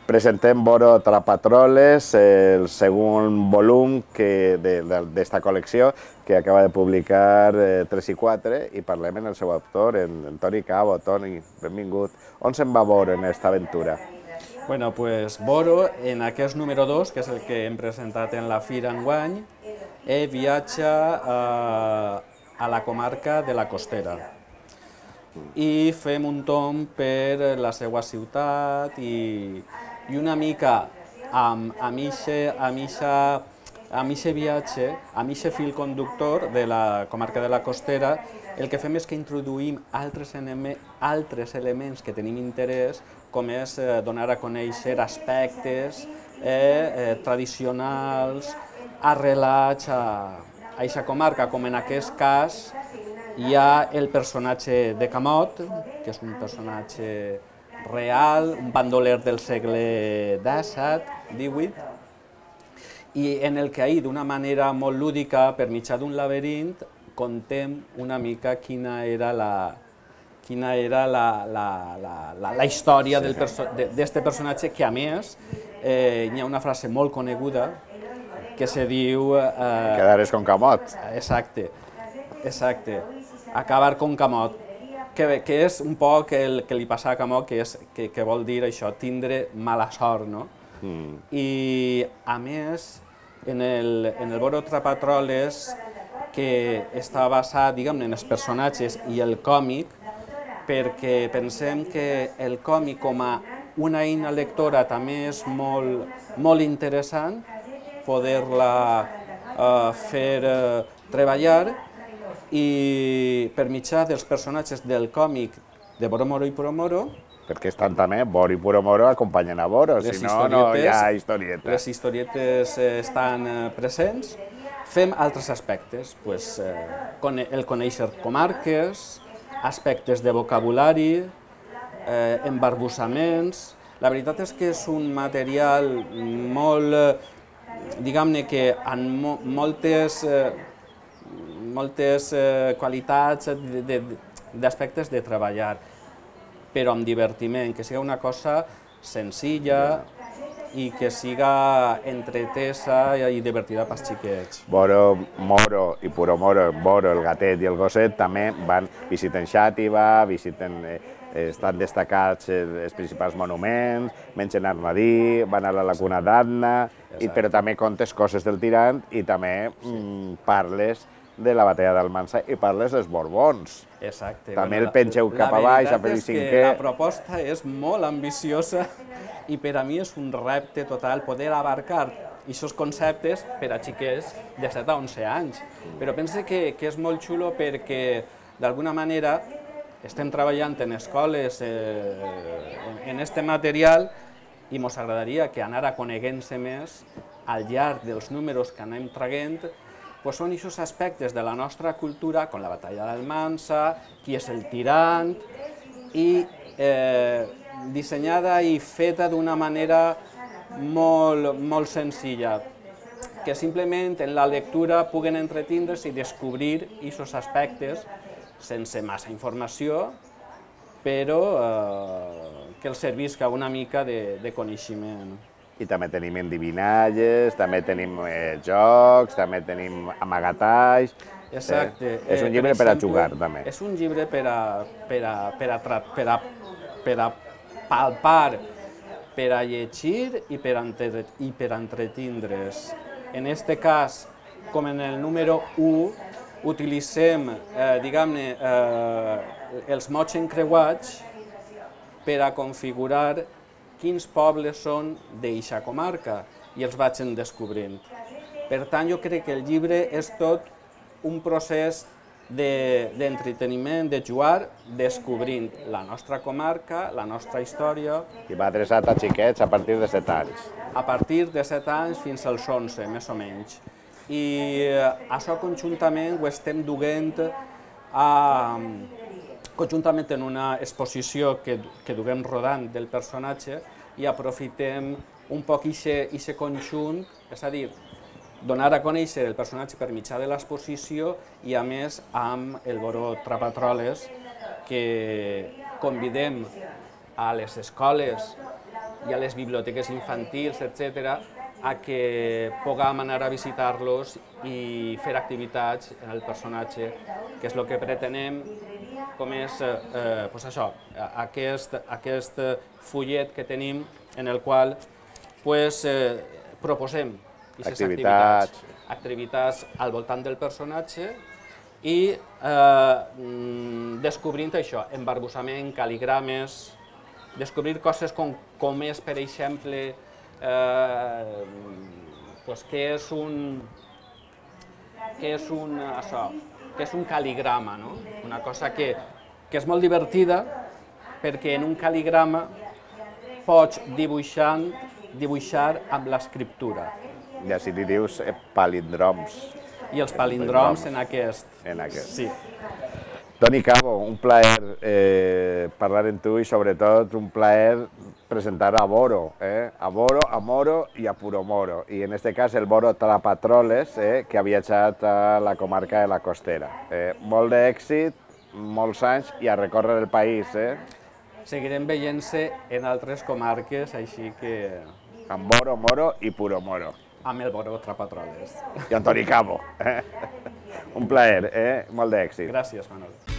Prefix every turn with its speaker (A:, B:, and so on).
A: Presentem Boro Trapatroles, el segon volum d'esta col·lecció que acaba de publicar 3 i 4 i parlem amb el seu autor, en Toni Cabo. Toni, benvingut. On se'n va Boro en aquesta aventura?
B: Bueno, pues Boro, en aquest número 2, que és el que hem presentat en la Fira enguany, viatja a la comarca de la Costera i fem un tomb per la seva ciutat i una mica amb aquest viatge, amb aquest fil conductor de la comarca de la Costera, el que fem és que introduïm altres elements que tenim interès, com és donar a conèixer aspectes tradicionals, arrelats a aquesta comarca, com en aquest cas hi ha el personatge de Camot, que és un personatge real, un bandoler del segle XVII, i en el que ahir, d'una manera molt lúdica, per mitjà d'un laberint, contem una mica quina era la història d'aquest personatge, que a més hi ha una frase molt coneguda que se diu...
A: Quedares con Camot.
B: Exacte, exacte. Acabar con Camot, que és un poc el que li passa a Camot, que vol dir això, tindre mala sort, no? I, a més, en el Boro Trapatroles, que està basat, diguem-ne, en els personatges i el còmic, perquè pensem que el còmic com a una eina lectora també és molt interessant, poder-la fer treballar, i per mitjà dels personatges del còmic de Boro Moro i Puro Moro...
A: Perquè estan també Boro i Puro Moro acompanyen a Boro, si no, no hi ha historieta.
B: Les historietes estan presents. Fem altres aspectes, el conèixer comarques, aspectes de vocabulari, embarbussaments... La veritat és que és un material molt, diguem-ne que amb moltes qualitats d'aspectes de treballar, però amb divertiment, que sigui una cosa senzilla i que siga entretesa i divertida pels xiquets.
A: Boro Moro i Puro Moro, Boro, el gatet i el gosset, també visiten Xàtiva, estan destacats els principals monuments, mengen armadí, van a la laguna d'Adna, però també contes coses del tirant i també parles de la batalla d'Almansa i parles dels Borbons.
B: Exacte.
A: També el pengeu cap a baix, a Felip V.
B: La veritat és que la proposta és molt ambiciosa i per a mi és un repte total poder abarcar aquests conceptes per a xiquets de 7 a 11 anys. Però pense que és molt xulo perquè, d'alguna manera, estem treballant en escoles en aquest material i ens agradaria que anara coneguent-se més al llarg dels números que anem traient. Són aquests aspectes de la nostra cultura, com la batalla d'Almansa, qui és el tirant, i dissenyada i feta d'una manera molt senzilla, que simplement en la lectura puguen entretindre's i descobrir aquests aspectes sense massa informació, però que els servisca una mica de coneixement.
A: I també tenim endivinalles, també tenim jocs, també tenim amagatalls...
B: Exacte.
A: És un llibre per a jugar, també.
B: És un llibre per a palpar, per a llegir i per a entretindre's. En aquest cas, com en el número 1, utilitzem, diguem-ne, els mots encreuats per a configurar quins pobles són d'eixa comarca i els vaig descobrint. Per tant, jo crec que el llibre és tot un procés d'entreteniment, de jugar, descobrint la nostra comarca, la nostra història.
A: I va adreçat a xiquets a partir de 7 anys.
B: A partir de 7 anys fins als 11, més o menys. I això conjuntament ho estem duent conjuntament en una exposició que duguem rodant del personatge i aprofitem un poc aquest conjunt, és a dir, donar a conèixer el personatge per mitjà de l'exposició i, a més, amb el Boro Trapatroles, que convidem a les escoles i a les biblioteques infantils, etc., a que puguem anar a visitar-los i fer activitats en el personatge, que és el que pretenem, com és això, aquest fullet que tenim en el qual proposem activitats al voltant del personatge i descobrint això, embarbussament, cal·ligrames, descobrir coses com és, per exemple, què és un cal·ligrama, una cosa que és molt divertida perquè en un cal·ligrama pots dibuixar amb l'escriptura.
A: I així li dius palíndroms.
B: I els palíndroms en aquest. Sí.
A: Toni Cabo, un plaer parlar amb tu i sobretot un plaer presentar a Boro, a Boro, a Moro i a Puromoro. I en aquest cas el Boro Trapatroles, que ha viatjat a la comarca de la Costera. Molt d'èxit, molts anys i a recórrer el país.
B: Seguirem veient-se en altres comarques, així que...
A: Amb Boro, Moro i Puromoro.
B: Amb el Boro Trapatroles.
A: I amb Toni Cabo. Un plaer, molt d'èxit.
B: Gràcies, Manol.